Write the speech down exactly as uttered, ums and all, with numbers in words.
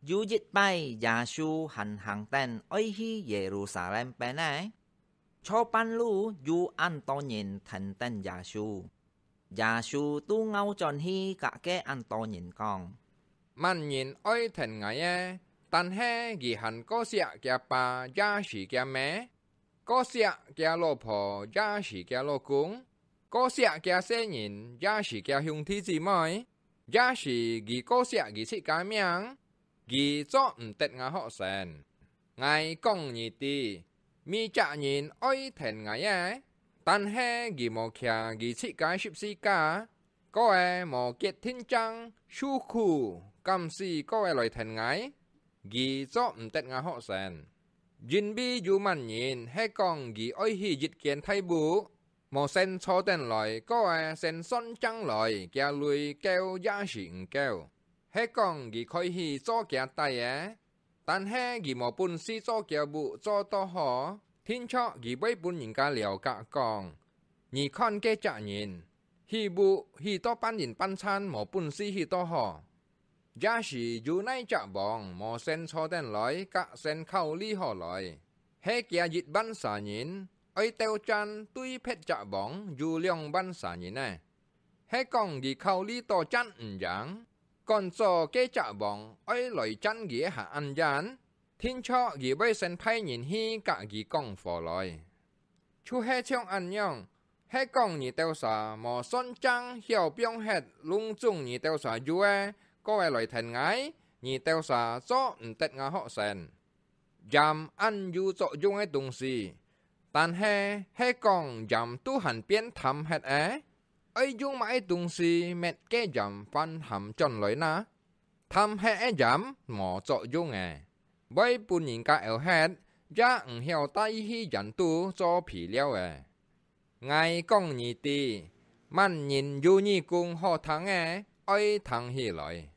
有一擺，耶穌還行等愛去耶路撒冷邊仔，坐半路有恁多人跈等耶穌。耶穌都𠢕轉去佮該恁多人講：「萬人愛跈𠊎个，但係佢還過惜厥爸也係厥姆，過惜厥老婆也係厥老公，過惜厥細人也係厥兄弟姊妹，也係佢過惜佢自家命，佢做毋得吾學生。」 𠊎講你知，每隻人愛跈𠊎个，但係佢無擎佢自家十字架，過仔無決定正受苦，敢死過仔來跈𠊎，佢做毋得吾學生。因為有萬人係講佢愛去一間大屋，無先坐等來，過仔先算正來，厥鐳夠也係毋夠；係講佢蓋去做厥弟个， 但係佢無本事做厥屋做到好，定著佢會分人家撩格講：「你看該隻人，起屋起到半陰半殘，無本事起到好。」也係有哪隻王無先坐等來，佮先考慮好來，係厥一萬儕人，愛鬥戰對別隻王有兩萬儕人呢？係講佢考慮到戰毋贏，趕早該隻王愛來戰佢个下恁遠，定著佢會先派人去佮佢講和來。就係像恁樣，係講你兜儕無算正曉放忒攏總你兜儕有个，過仔來跈𠊎，你兜儕做毋得吾學生。鹽恁有作用个東西，但係係講鹽都還變淡忒仔， 愛用麼个東西搣該鹽還鹹轉來呢？淡忒个鹽無作用个，會分人家漚忒，也毋曉帶去煙肚做肥料个。𠊎講你知，萬人有耳公好聽个，愛聽起來。